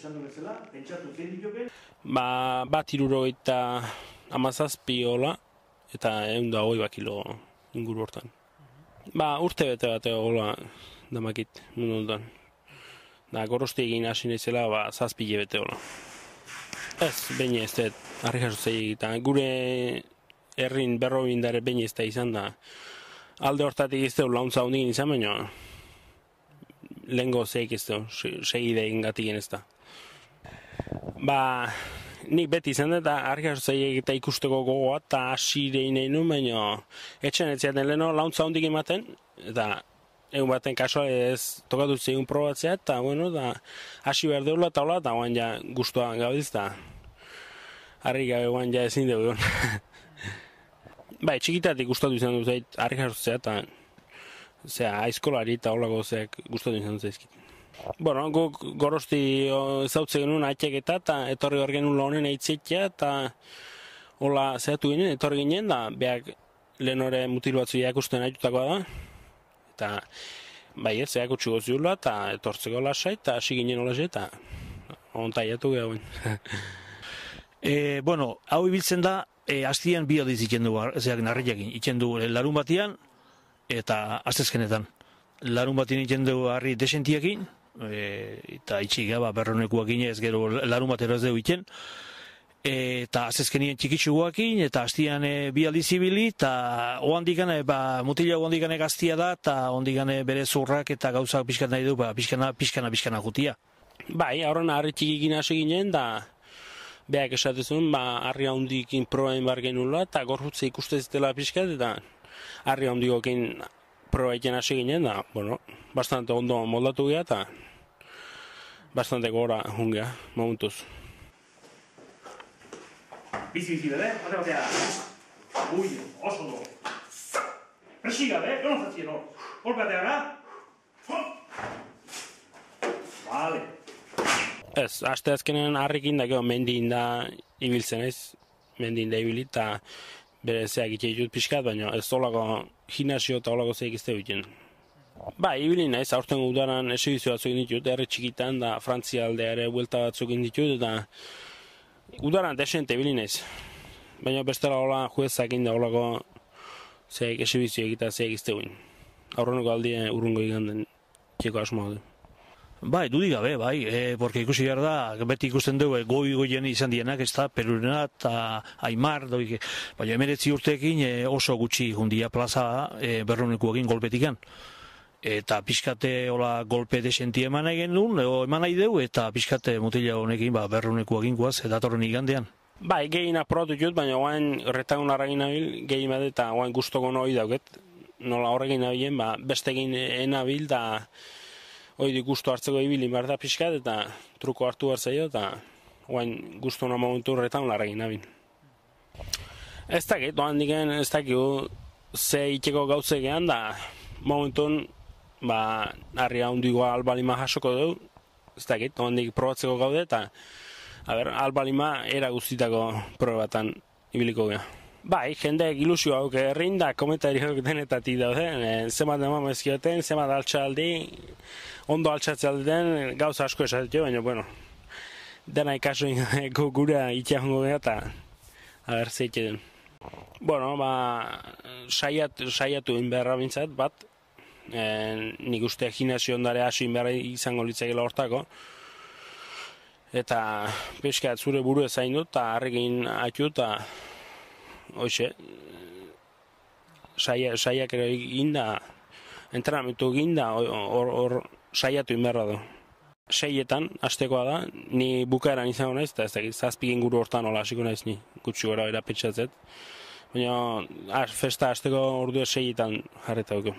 esan du bezala, pentsatu zein dituke? Bat 77 hola, eta 120 kilo inguru hortan. Urte bete bat hola damakit mundu honetan. Gorosti egin hasi naizela, 7 hilabete hola. Ez, behin ez dut, harri jasotzei egita. Gure herrin berrobindare behin ez da izan da. Alde hortatik ez dut launtza hondikin izan, baina lehenko zeik ez dut, segide egin gatik ez da. Nik beti izan dut, harri jasotzei egita ikusteko gogoa, eta hasirein egin nuen, baina etxen ez ziaten leheno launtza hondik ematen, eta egun baten kasual ez tokatu zeigun probatzea, eta hasi behar deula eta hola, eta oan ja guztua gaudiz, eta harri gabe oan ja ezin dugu. Txikitatik gustatu izan dut zait harri jasotzea, eta aizkolari eta holako zeak gustatu izan dut zaizkit. Guk Gorosti ezautze genuen aitzek eta etorri hor genuen honen aitzekea, eta hola zehatu ginen, etorri ginen, da behak lehen hori mutil batzu ikusten aitutakoa da, eta zeak utxuko ziurla, eta etortzeko lasai, eta hasi ginen hola eta ontaiatu gehauen. Hau ibiltzen da, hastian bi aldiz itzen du, zeak narriakin, itzen du larun batian, eta astezkenetan. Larun batien itzen du harri desentiakin, eta itxik berronekuak ez gero larun batero ez dugu itzen, eta azezkenien txikitsuguakin, eta hastian bi aldiz ibili, eta oandikane, mutila oandikane gaztia da, eta oandikane bere zurrak eta gauzak pixkat nahi du, pixkana jutia. Horren harri txikikin hasi ginen, da behak esatezun, harri handikin probain bar genula, eta gorputze ikustez dela pixkat, eta harri handikokin probaiten hasi ginen, da, bastante ondo moldatu geha, eta bastante gora jungea, momentuz. Bizi, bebe, batea. Ui, oso do. Presi gabe, egon zatzien hor. Golpeatea gara. Vale. Ez, aste azkenen harrikin da, mendin da ibiltzen ez, mendin da ibili, eta bere zeak itxe ditut pixkat, baina ez olako gimnasio eta olako zeik izte egiten. Ibili naiz, aurten udaran esegizio batzuk ditut, herri txikitan, da Frantzia aldeare buelta batzuk ditut, eta udaran desente ibili naiz. Baina bestela hola juezak inda olako zeik esegizio egita zeik izte egin. Aurreneko aldie urrungo iganden txeko asmoa du. Dudik gabe, porque ikusi behar da, beti ikusten dugu, goi-goien izan dienak, ez da, Perurena eta Aimar, baina 19 urteekin oso gutxi jundia plaza berronekuekin golpetikan. Eta pixkate hola golpe desenti eman nahi genuen, eman nahi dugu, eta pixkate mutila honekin berronekuekin guaz, datorren igandean. Gehien aprobatu jut, baina oain retagun harragin nabil, gehien bade eta oain guztoko noi dauket. Nola horrekin nabilen, bestegin enabil, da hori guztu hartzeko ibili behar da pixkat, eta truko hartu behar zaio, eta oain guztu hona momentu retagun harragin nabil. Ez dakit, oain diken ez dakit, ze itxeko gautze gehan, da momentun, harria hundikoa albalima jasoko dugu, ez dakit, oain dik probatzeko gaude, eta albalima era guztitako probatan ibiliko geha. Jendeek ilusio hauk errin da komentariok denetatik daude, zemat eman ezkioten, zemat altxaldi, ondo altxatzea den, gauza asko esatio, baina, dena ikaso gure itxea jongo geha, eta zeite den. Saiatu inberra bintzat, nik uste gimnasio ondare hasi inberra izango litzakela hortako, eta peskat zure buru ezain dut, eta harrekin atu, eta hoxe, saiak ere egin da, entrenamentu egin da, hor saiatu inberra du. 6etan, hastekoa da, ni bukaeran izango naiz, eta ez dakit, 7 inguru hortan hola hasiko naiz ni, gutxi gora era pentsatzet. Baina, festa hasteko ordua 6etan jarreta dugu.